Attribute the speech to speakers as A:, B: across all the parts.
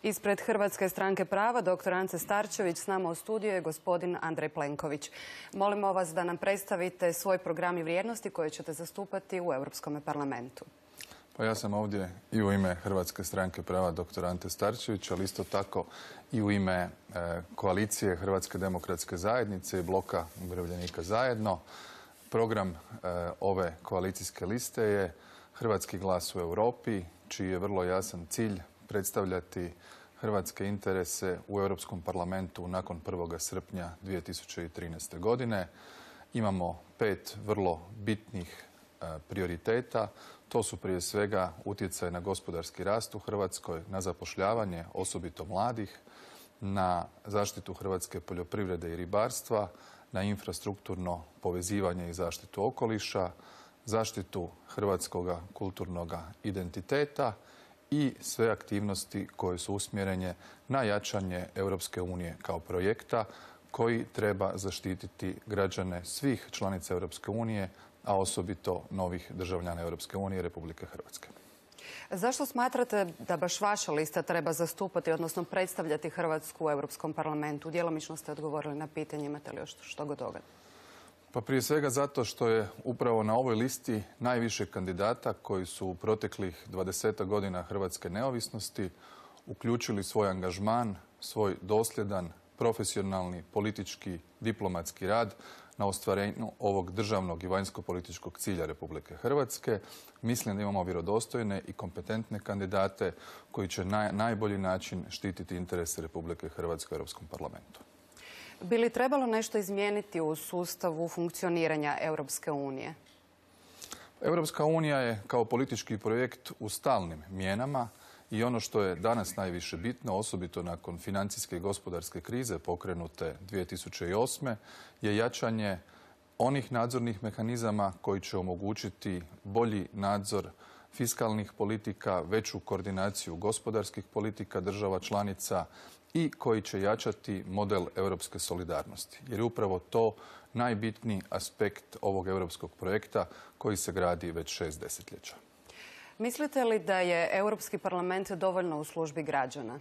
A: Ispred Hrvatske stranke prava, dr. Ante Starčević, s nama u studiju je gospodin Andrej Plenković. Molimo vas da nam predstavite svoj program i vrijednosti koje ćete zastupati u Europskom parlamentu.
B: Pa ja sam ovdje i u ime Hrvatske stranke prava dr. Ante Starčević, ali isto tako i u ime koalicije Hrvatske demokratske zajednice i bloka umirovljenika zajedno. Program ove koalicijske liste je Hrvatski glas u Europi, čiji je vrlo jasan cilj predstavljati hrvatske interese u Europskom parlamentu nakon 1. srpnja 2013. godine. Imamo 5 vrlo bitnih prioriteta. To su prije svega utjecaj na gospodarski rast u Hrvatskoj, na zapošljavanje, osobito mladih, na zaštitu hrvatske poljoprivrede i ribarstva, na infrastrukturno povezivanje i zaštitu okoliša, zaštitu hrvatskog kulturnog identiteta i sve aktivnosti koje su usmjerene na jačanje Europske unije kao projekta koji treba zaštititi građane svih članica Europske unije, a osobito novih državljana Europske unije i Republike Hrvatske.
A: Zašto smatrate da baš vaša lista treba zastupati, odnosno predstavljati Hrvatsku u Europskom parlamentu? Djelomično ste odgovorili na pitanje, imate li još što god toga?
B: Pa prije svega zato što je upravo na ovoj listi najviše kandidata koji su u proteklih 20 godina hrvatske neovisnosti uključili svoj angažman, svoj dosljedan, profesionalni, politički, diplomatski rad na ostvarenju ovog državnog i vanjsko-političkog cilja Republike Hrvatske. Mislim da imamo vjerodostojne i kompetentne kandidate koji će na najbolji način štititi interese Republike Hrvatske u Europskom parlamentu.
A: Bi li trebalo nešto izmijeniti u sustavu funkcioniranja Europske unije?
B: Europska unija je kao politički projekt u stalnim mijenama i ono što je danas najviše bitno, osobito nakon financijske i gospodarske krize pokrenute 2008. je jačanje onih nadzornih mehanizama koji će omogućiti bolji nadzor fiskalnih politika, veću koordinaciju gospodarskih politika država članica i koji će jačati model europske solidarnosti. Jer je upravo to najbitniji aspekt ovog europskog projekta koji se gradi već 6 desetljeća.
A: Mislite li da je Europski parlament dovoljno u službi građana?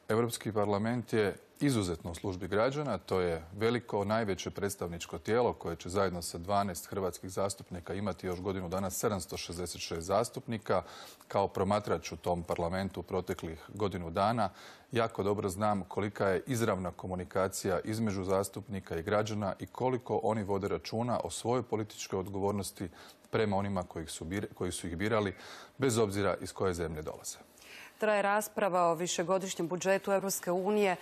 B: Europski parlament je izuzetno u službi građana. To je veliko, najveće predstavničko tijelo koje će zajedno sa 12 hrvatskih zastupnika imati još godinu dana 766 zastupnika. Kao promatrač u tom parlamentu proteklih godinu dana jako dobro znam kolika je izravna komunikacija između zastupnika i građana i koliko oni vode računa o svojoj političkoj odgovornosti prema onima koji su ih birali, bez obzira iz koje zemlje dolaze.
A: Traje rasprava o višegodišnjem budžetu Europske unije.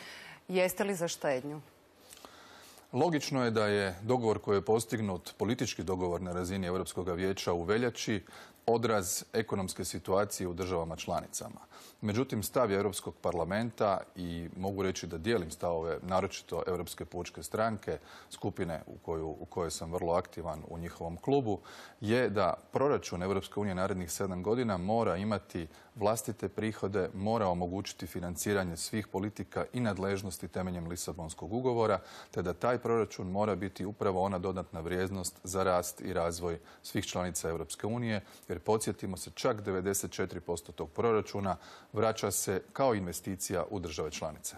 A: Jeste li za štednju?
B: Logično je da je dogovor koji je postignut, politički dogovor na razini Europskog vijeća u veljači, odraz ekonomske situacije u državama članicama. Međutim, stav je Europskog parlamenta i mogu reći da dijelim stavove naročito Europske pučke stranke, skupine u kojoj sam vrlo aktivan u njihovom klubu, je da proračun Europske unije narednih 7 godina mora imati vlastite prihode, mora omogućiti financiranje svih politika i nadležnosti temeljem Lisabonskog ugovora, te da taj proračun mora biti upravo ona dodatna vrijednost za rast i razvoj svih članica Europske unije, jer podsjetimo se, čak 94% tog proračuna vraća se kao investicija u države članice.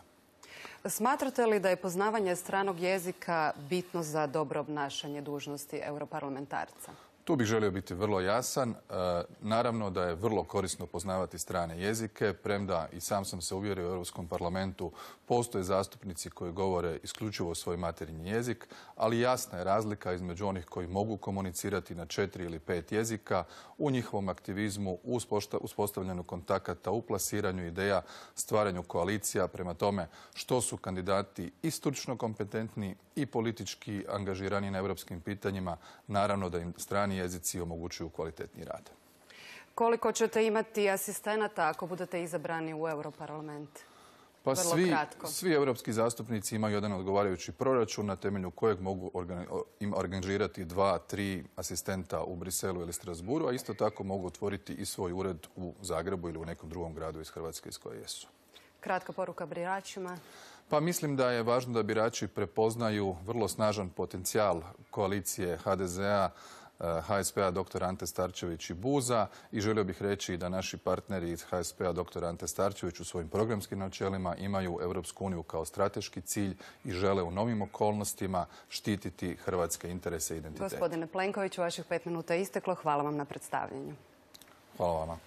A: Smatrate li da je poznavanje stranog jezika bitno za dobro obnašanje dužnosti europarlamentarca?
B: Tu bih želio biti vrlo jasan. Naravno da je vrlo korisno poznavati strane jezike, premda i sam sam se uvjerio u Europskom parlamentu postoje zastupnici koji govore isključivo svoj materinji jezik, ali jasna je razlika između onih koji mogu komunicirati na 4 ili 5 jezika u njihovom aktivizmu, uspostavljanju kontakata, u plasiranju ideja, stvaranju koalicija. Prema tome, što su kandidati i stručno kompetentni i politički angažirani na europskim pitanjima, naravno da im strani jezici omogućuju kvalitetni rad.
A: Koliko ćete imati asistenata ako budete izabrani u Europarlament?
B: Pa svi europski zastupnici imaju jedan odgovarajući proračun na temelju kojeg mogu organizirati 2, 3 asistenta u Briselu ili Strasbourgu, a isto tako mogu otvoriti i svoj ured u Zagrebu ili u nekom drugom gradu iz Hrvatske iz koje jesu.
A: Kratka poruka biračima.
B: Pa mislim da je važno da birači prepoznaju vrlo snažan potencijal koalicije HDZ-a HSP-a dr. Ante Starčević i Buza i želio bih reći da naši partneri iz HSP-a dr. Ante Starčević u svojim programskim načelima imaju Europsku uniju kao strateški cilj i žele u novim okolnostima štititi hrvatske interese i identitete.
A: Gospodine Plenkoviću, vaših 5 minuta je isteklo. Hvala vam na predstavljanju.
B: Hvala vama.